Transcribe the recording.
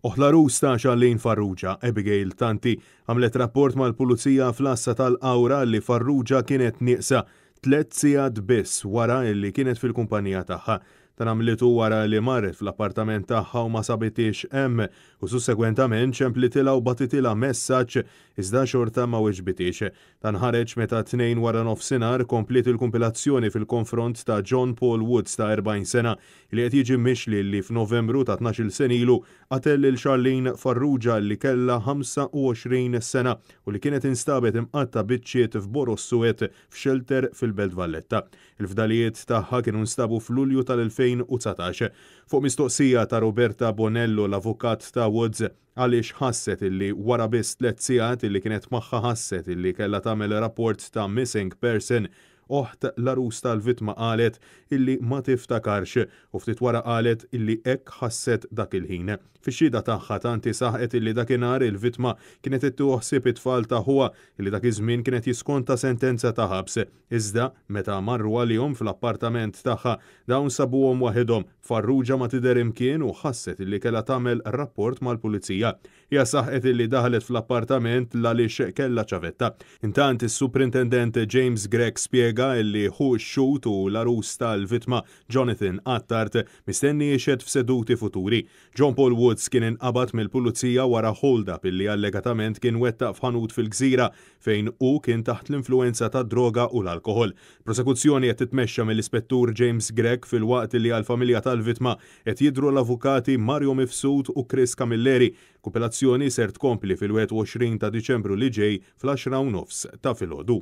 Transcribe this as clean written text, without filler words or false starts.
Oħt l-għarus ta' Charlene Farrugia, Abigail Tanti, għamlet rapport mal-Pulizija fl-għassa tal-Qawra li Farrugia kienet nieqsa tlett sigħat biss wara li kienet fil-kumpanija tagħha. Dan għamlitu wara li marret fl-appartament tagħha u ma sabithiex hemm u sussegwentament ċemplitilha u bagħtitilha messaġġ iżda xorta ma weġbithiex. Dan ħareġ meta t-Tnejn waranofsinhar kompliet il-kumpilazzjoni fil-konfront ta' John Paul Woods ta' 40 sena li qed jiġi mixli li f'Novembru ta' 12-il sena ilu qatel lil Charlene Farrugia li kellha 25 sena u li kienet instabet imqatta' biċċiet f'boroż suwed f'xelter fil-Belt Valletta. Il-fdalijiet tagħha kienu nstabu f'Lulju tal-2019. Fuq mistoqsija ta' Roberta Bonello, l-avukat ta' Woods, għaliex ħasset illi wara biss tlett sigħat illi kienet magħha ħasset illi kellha tagħmel rapport ta' missing person, oħt l-għarus tal-vittma qalet illi ma tiftakarx u ftit wara qalet illi hekk ħasset dak il-ħin. Fix-xhieda tagħha Tanti saħqet illi dakinhar il-vittma kienet qed tieħu ħsieb it-tfal ta' ħuha illi dak iż-żmien kien qed jiskonta sentenza ta' ħabs. Iżda, meta marru għalihom fl-appartament tagħha, dawn sabuhom waħedhom. Farrugia ma tidher imkien u ħasset illi kellha tagħmel rapport mal-Pulizija. Hija saħqet illi daħlet fl-appartament l-għaliex kellha ċavetta. Intant, is-Suprintendent James Grech spjega illi ħu x-xhud u l-għarus tal-vittma, Jonathan Attard, mistenni jixhed f'seduti futuri. John Paul Woods kien inqabad mill-Pulizija wara hold-up illi allegatament kien wettaq f'ħanut fil-Gżira fejn hu kien taħt l-influwenza tad-droga u l-alkoħol. Prosekuzzjoni qed titmexxa mill-Ispettur James Grech filwaqt li għall-familja tal-vittma qed jidhru l-avukati Mario Mifsud u Chris Camilleri. Kumpilazzjoni ser tkompli fil-21 ta' Diċembru li ġej fl-10:30 ta' filgħodu.